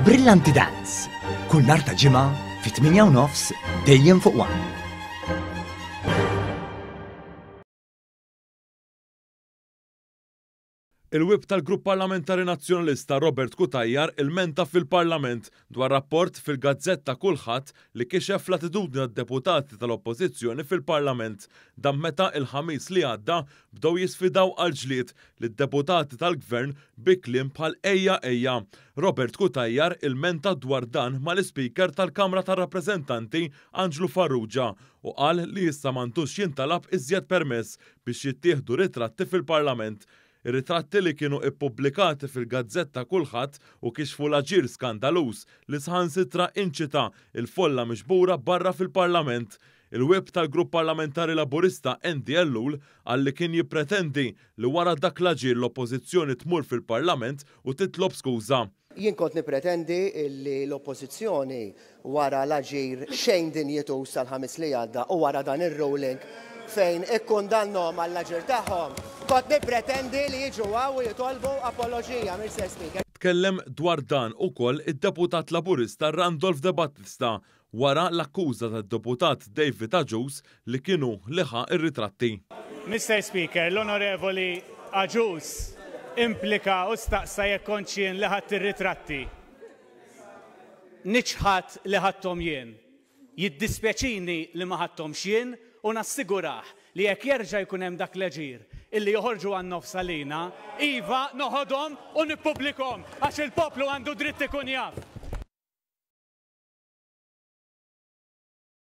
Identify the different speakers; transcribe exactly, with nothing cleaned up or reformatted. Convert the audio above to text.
Speaker 1: Brillanti Dance, kull nhar ta' Ġimgħa fit-tmienja u nofs dejjem fuq One.
Speaker 2: Il-Whip tal-Grupp Parlamentari Nazzjonalista Robert Cutajar ilmenta fil-Parlament dwar rapport fil-gazzetta Kullħadd li kixef l-attitudni tad-deputati tal-Oppożizzjoni fil-Parlament. Dan meta il-Ħamis li għadda bdew jisfidaw għal ġlied lid-deputati tal-Gvern bi kliem bħal ejja ejja. Robert Cutajar ilmenta dwar dan mal-Ispeaker tal-Kamra tar-Rappreżentanti Anġlu Farrugia u qal li issa m'għandux jintalab iżjed permess biex jittieħdu ritratti fil-Parlament. Ir-ritratti li kienu ippubblikati fil-gazzetta Kullħadd u kixfu l-aġir skandaluż li saħansitra inċita il-folla miġbura barra fil-Parlament. Il-Whip tal-Grupp Parlamentari Laburista Andy Ellul qal li kien jippretendi li wara dak l-aġir l-Oppożizzjoni tmur fil-Parlament u titlob skuża.
Speaker 3: Jien kont nippretendi li l-Oppożizzjoni wara l-aġir xejn dinjituż tal-Ħamis li għadda u wara dan ir-ruling fejn ikkundannhom għall-aġir tagħhom, kont nippretendi li jiġu hawn u jitolbu apoloġija, Mister Speaker.
Speaker 2: Tkellem dwar dan ukoll id-deputat Laburista Randolph De Battista wara l-akkuża tad-deputat David Agius li kienu li ħa ir-ritratti.
Speaker 4: Mister Speaker, l-Onorevoli Agius implika u staqsa jekk kontx jien li ħadt ir-ritratti. Niċħad li ħadthom jien. Jiddispjaċini li ma ħadthomx jien u nassigurah li jekk jerġa' jkun hemm dak l-eġir illi joħorġu għan-nofs għalina, iva noħodhom u nippubblikhom għax il-poplu għandu dritt ikun jaf.